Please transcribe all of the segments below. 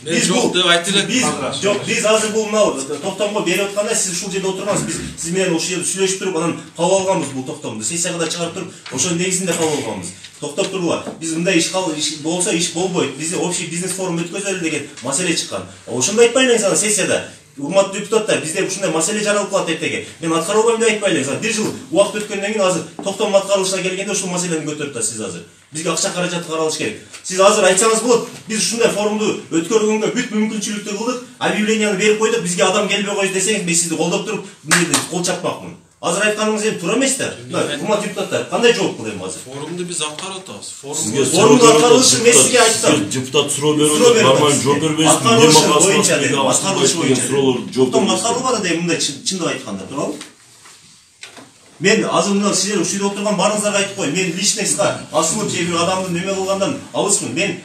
Биз жок деп айтып элек. Жок, биз азыр бул мына токтомго берип атканда сиз ушул жерде отургансыз. Биз сиз менен ушул жерде сүйлөшүп туруп анан кабыл алганбыз бул токтомду. Сессияга да чыгарып туруп, ошонун негизинде кабыл алганбыз. Токтоп тургула. Биз мындай иш болсо иш болбойт. Биз общий бизнес форум өткөзөлү деген маселе чыккан. Ошондо айтпай элеңиз ана сессияда. Урматтуу депутаттар, bizde ушундай маселе жаралып калат эртеге. Мен аткара албайм деп айтпай элеңиз. Бир жыл убакыт өткөндөн кийин азыр токтом аткарылышына келгенде ушул маселени көтөрүп атасыз сиз азыр. Бизге акча каражаты каралыш керек. Сиз азыр айтсаңыз болот, биз ушундай форумду өткөргөнгө бүт мүмкүнчүлүктү кылдык, объявленияны берип койдук, бизге адам келбей койду десеңиз, мен сизди колдоп туруп, мындай кол чапмакмын. Азыр айтканыңыз эми туура эмес да. Урматтуу депутаттар, кандай жооп кылдым азыр? Форумду биз аткарып атабыз. Форумду аткарылышы мен сизге айттым. Депутат суроо берип, нормалдуу жооп бербейсиз. Аткарылышы боюнча жооп аткарылбады деп мындай чындык айтканда, туурабы? Мен азыр мына сиздер ушул жерде отурган баарыңыздарга айтып коеюн. Мен личный ска асылып же бир адамды неме кылгандан алысмын. Мен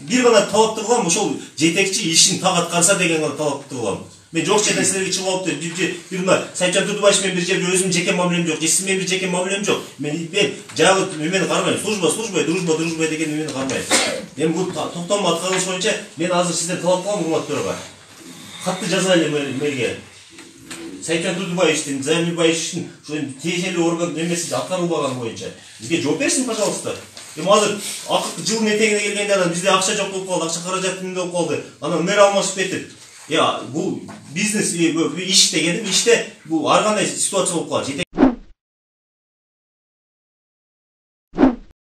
бир гана талапты кылам, ошол жетекчи ишин так аткарса деген гана талапты кылам. Мен жок жерден силерге чыгып алып бир мына Сайытжан Турдубаев менен бир жерде өзүмдүн жеке мамилем жок, же сиз менен бир жеке мамилем жок. Мен жагы мени карабайм. Служба, дружба деген мени карабайм. Мен бул токтом аткарылыш боюнча мен азыр сизден талап кылам урматтууларга. Катты жазайлы мэрге. Сайытжан Турдубаевдин, Замирбаевдин ошо тиешелүү орган немеси аткарылбаганы боюнча бизге жооп берсин, пожалуйста. Эми азыр акыркы жылдын этегине келгенде анан бизде акча жок болуп калды, акча каражаты эмне болуп калды. Анан мэр алмашып кетип. Бул бизнес иш дегеним иште бул ар кандай ситуация болуп калат.